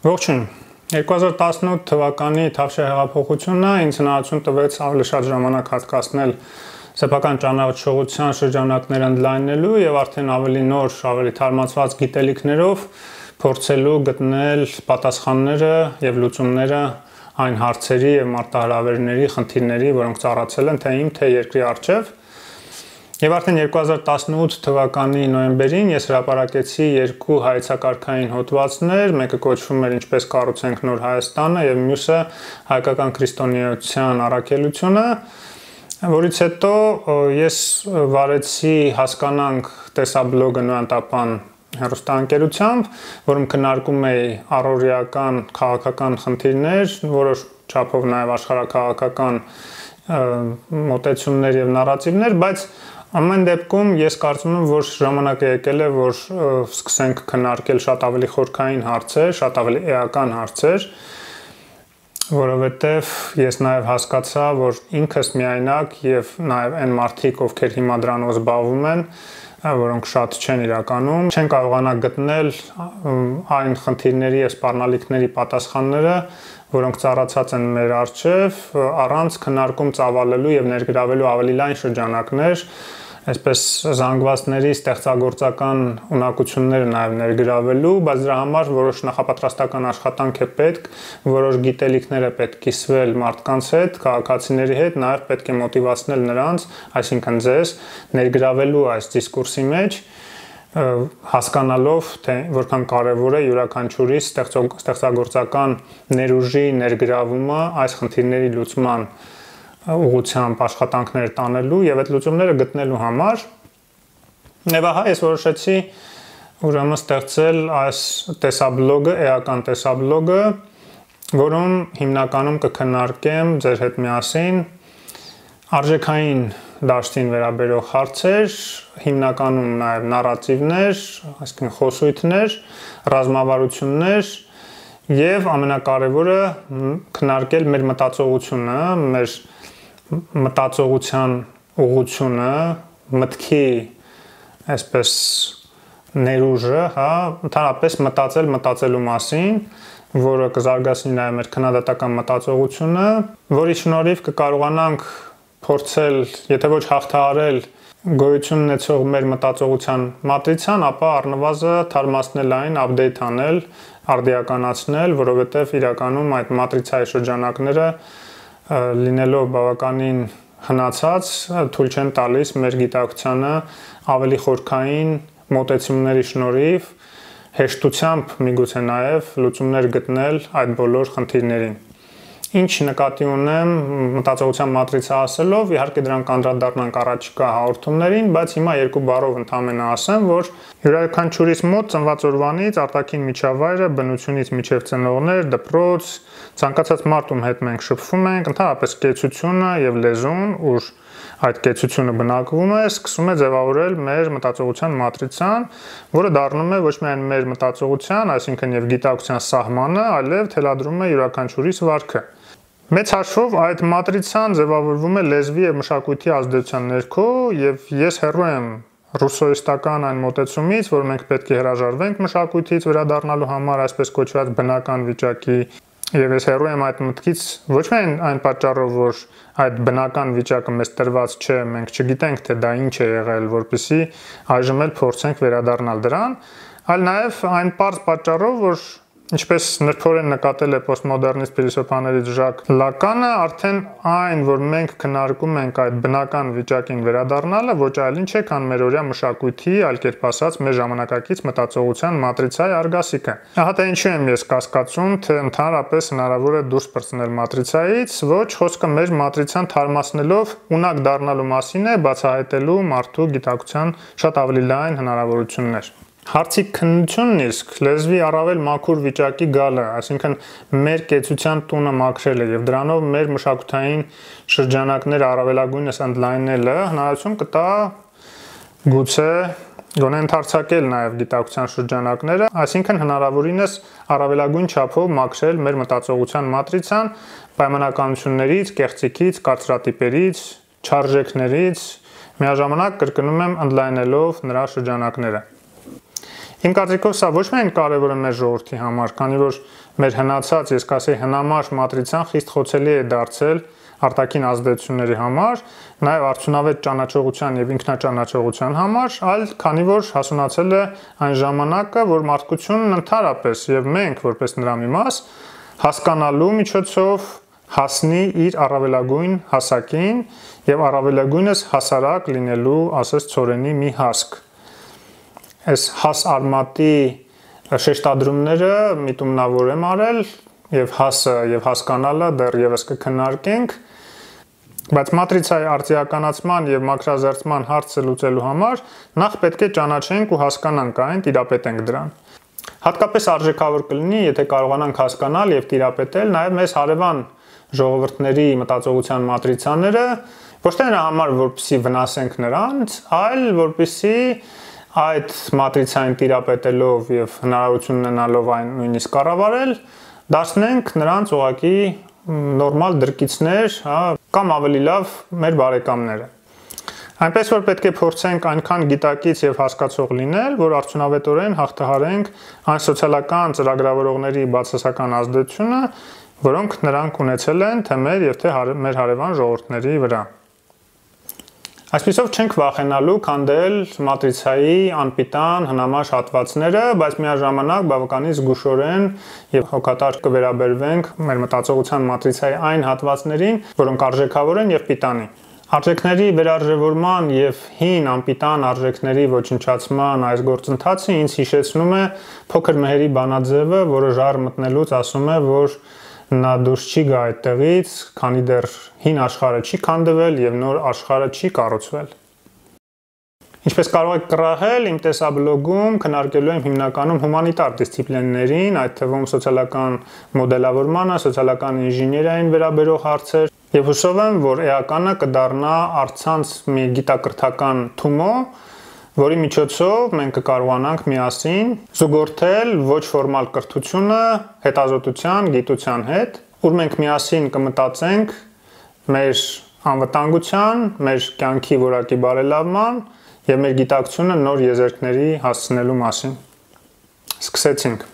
Ողջույն, 2018 թվականի Թավշյա հեղափոխությունը ինձ հնարավորություն տվեց ավելի շատ ժամանակ հատկացնել սեփական ճանաչողության շրջանակները ընդլայնելու եւ արդեն ավելի նոր, ավելի թարմացված գիտելիքներով փորձելու գտնել պատասխանները եւ լուծումները այն հարցերի եւ մարտահրավերների, խնդիրների, որոնք ծառացել են թե իմ, թե երկրի առջեւ։ Եվ արդեն 2018 թվականի նոյեմբերին ես հրապարակեցի երկու հայեցակարգային հոդվածներ, մեկը կոչվում էր «Ինչպես կառուցենք նոր Հայաստանը» եւ մյուսը «Հայկական քրիստոնեության առաքելությունը», որից հետո ես վարեցի «Հասկանանք» տեսաբլոգը նոյանտապան հեռուստաընկերությամբ, որում քննարկում էի առօրեական քաղաքական խնդիրներ, որոշ չափով նաեւ աշխարհաքաղաքական մոտեցումներ եւ նարատիվներ, բայց ամեն դեպքում ես կարծում եմ, որ ժամանակը եկել է, որ սկսենք քննարկել շատ ավելի խորքային հարցեր, շատ ավելի էական հարցեր, որովհետև ես նաև հասկացա, որ ինքս միայնակ եւ նաև այն մարդիկ, ովքեր հիմա դրանով զբաղվում են, որոնք շատ չեն իրականում, չեն կարողանա գտնել այն խնդիրների եւ սպառնալիքների պատասխանները, որոնք ծառացած են մեր առջև, առանց քննարկում ծավալելու եւ ներգրավելու ավելի լայն շրջանակներ, այսպես զանգվածների ստեղծագործական ունակությունները նաև ներգրավելու, բայց դրա համար որոշ նախապատրաստական աշխատանք է պետք, որոշ գիտելիքներ է պետք կիսվել մարդկանց հետ, քաղաքացիների հետ, նաև պետք է մոտիվացնել նրանց, այսինքն ձեզ, ներգրավելու այս դիսկուրսի մեջ, հասկանալով, թե որքան կարևոր է յուրաքանչյուրի ստեղծագործական ներուժի ներգրավումը այս խնդիրների լուծման ուղղությամբ աշխատանքներ տանելու եւ այդ լուծումները գտնելու համար եւ ահա ես որոշեցի ուրեմն ստեղծել այս տեսաբլոգը, էական տեսաբլոգը, որում հիմնականում կքննարկեմ ձեր հետ միասին արժեքային դաշտին վերաբերող հարցեր, հիմնականում նաեւ նարատիվներ, այսինքն խոսույթներ, ռազմավարություններ եւ ամենակարևորը քննարկել մեր մտածողությունը, մեր մտածողության ուղղությունը, մտքի այսպես ներուժը, հա, ընդհանրապես մտածելու մասին, որը կզարգացնի նաև մեր քննադատական մտածողությունը, որի շնորհիվ կկարողանանք փորձել, եթե ոչ հաղթահարել գոյություն ունեցող մեր մտածողության մատրիցան, ապա առնվազն թարմացնել այն, update անել, արդիականացնել, որովհետև իրականում այդ մատրիցայի շրջանակները լինելով բավականին հնացած, թույլ չեն տալիս մեր գիտակցությանը ավելի խորքային մոտեցումների շնորհիվ հեշտությամբ միգուցե նաև լուծումներ գտնել այդ բոլոր խնդիրներին։ Ինչ նկատի ունեմ մտածողության մատրիցա ասելով, իհարկե դրան կանդրադառնանք առաջիկա հաղորդումներին, բայց հիմա երկու բառով ընդհանրապես ասեմ, որ յուրաքանչյուրիս մոտ ծնված օրվանից արտաքին միջավայրը, բնությունից մինչև ծնողներ, դպրոց, ցանկացած մարդ ում հետ մենք շփվում ենք, ընդհանրապես կեցությունը եւ լեզուն, ուր այդ կեցությունը բնակվում է, սկսում է ձևավորել մեր մտածողության մատրիցան, որը դառնում է ոչ միայն մեր մտածողության, այսինքն եւ գիտակցության սահմանը, այլև թելադրում է յուրաքանչյուրիս վարքը։ Մեծ հաշվով այդ մատրիցան ձևավորվում է լեզվի եւ մշակույթի ազդեցության ներքո եւ ես հեռու եմ ռուսոիստական այն մոտեցումից, որ մենք պետք է հրաժարվենք մշակույթից վերադառնալու համար այսպես կոչված բնական վիճակի եւ ես հեռու եմ այդ մտքից ոչ միայն այն պատճառով, որ այդ բնական վիճակը մեզ տրված չէ, մենք չգիտենք թե դա ինչ է եղել, որպեսզի այժմ էլ փորձենք վերադառնալ դրան, այլ նաեւ այն պարզ պատճառով, որ ինչպես նրբորեն նկատել է պոստմոդեռնիստ փիլիսոփաներից Ժակ Լականը, արդեն այն, որ մենք քննարկում ենք այդ բնական վիճակին վերադառնալը, ոչ այլ ինչ է, քան մեր օրյա մշակույթի, այլ կերպ ասած, մեր ժամանակակից մտածողության մատրիցայի արգասիքը։ Ահա թե ինչու եմ ես կասկածում, թե ընդհանրապես հնարավոր է դուրս պրծնել մատրիցայից, ոչ խոսքը մեր մատրիցան թարմացնելով ունակ դառնալու մասին է, բացահայտելու մարդու գիտակցության շատ ավելի լայն հնարավորություններ։ Հարցի քննությունն իսկ լեզվի առավել մաքուր վիճակի գալը, այսինքն մեր կեցության տունը մաքրելը եւ դրանով մեր մշակութային շրջանակները առավելագույնս ընդլայնելը հնարավորություն կտա գուցե գոնե ընդարձակել նաեւ գիտակցության շրջանակները, այսինքն հնարավորինս առավելագույն չափով մաքրել մեր մտածողության մատրիցան պայմանականություններից, կեղծիքից, կարծրատիպերից, չարժեքներից, միաժամանակ կրկնում եմ ընդլայնելով նրա շրջանակները։ Իմ կարծիքով սա ոչ միայն կարևոր է մեր ժողովրդի համար, քանի որ մեր հնացած, ես կասեի, հնամաշ մատրիցան խիստ խոցելի է դարձել արտաքին ազդեցությունների համար, նաև արդյունավետ ճանաչողության եւ ինքնաճանաչողության համար, այլ քանի որ հասունացել է այն ժամանակը, որ մարդկությունն ընդհանրապես եւ մենք որպես նրա մի մաս հասկանալու միջոցով հասնի իր առավելագույն հասակին եւ առավելագույնս հասարակ լինելու, ասես ծորենի մի հասկ։ Այս հաս արմատի շեշտադրումները միտումնավոր եմ արել եւ հասը եւ հասկանալը դեռևս կքննարկենք, բայց մատրիցայի արտիականացման եւ մակրազերծման հարցը լուծելու համար նախ պետք է ճանաչենք ու հասկանանք այն, տիրապետենք դրան։ Հատկապես արժեքավոր կլինի, եթե կարողանանք հասկանալ եւ տիրապետել նաեւ մեզ հարևան ժողովուրդների մտածողության մատրիցաները, ոչ թե նրա համար, որպեսզի վնասենք նրանց, այլ որպեսզի այդ մատրիցային տիրապետելով եւ հնարավորություն ունենալով այն նույնիսկ կառավարել, դարձնենք նրանց ուղղակի նորմալ դրկիցներ, կամ ավելի լավ մեր բարեկամները։ Այնպես որ պետք է փորձենք այնքան գիտակից եւ հասկացող լինել, որ արդյունավետորեն հաղթահարենք այն սոցիալական ծրագրավորողների բացասական ազդեցությունը, որոնք նրանք ունեցել են թե մեր եւ թե մեր հարևան ժողովուրդների վրա։ Այսպիսով չենք վախենալու քանդել մատրիցայի անպիտան հնամաշ հատվածները, բայց միաժամանակ բավականին զգուշորեն եւ հոգատար կվերաբերվենք մեր մտածողության մատրիցայի այն հատվածներին, որոնք արժեքավոր են եւ պիտանի։ Արժեքների վերարժևորման եւ հին անպիտան արժեքների ոչնչացման այս գործընթացը ինձ հիշեցնում է փոքր Մեհերի բանաձևը, որը ժառ մտնելուց ասում է, որ նա դուրս չի գա այդտեղից, քանի դեռ հին աշխարհը չի քանդվել եւ նոր աշխարհը չի կառուցվել։ Ինչպես կարող եք կռահել, իմ տեսաբլոգում քննարկելու եմ հիմնականում հումանիտար դիսցիպլիններին, այդ թվում սոցիալական մոդելավորմանը, սոցիալական ինժեներիային վերաբերող հարցեր, եւ հուսով եմ, որ էականը կդառնա առցանց մի գիտակրթական թումո, որի միջոցով մենք կկարողանանք միասին զուգորդել ոչ ֆորմալ կրթությունը հետազոտության, գիտության հետ, ուր մենք միասին կմտածենք մեր անվտանգության, մեր կյանքի որակի բարելավման եւ մեր գիտակցությունը նոր եզերքների հասցնելու մասին։ Սկսեցինք։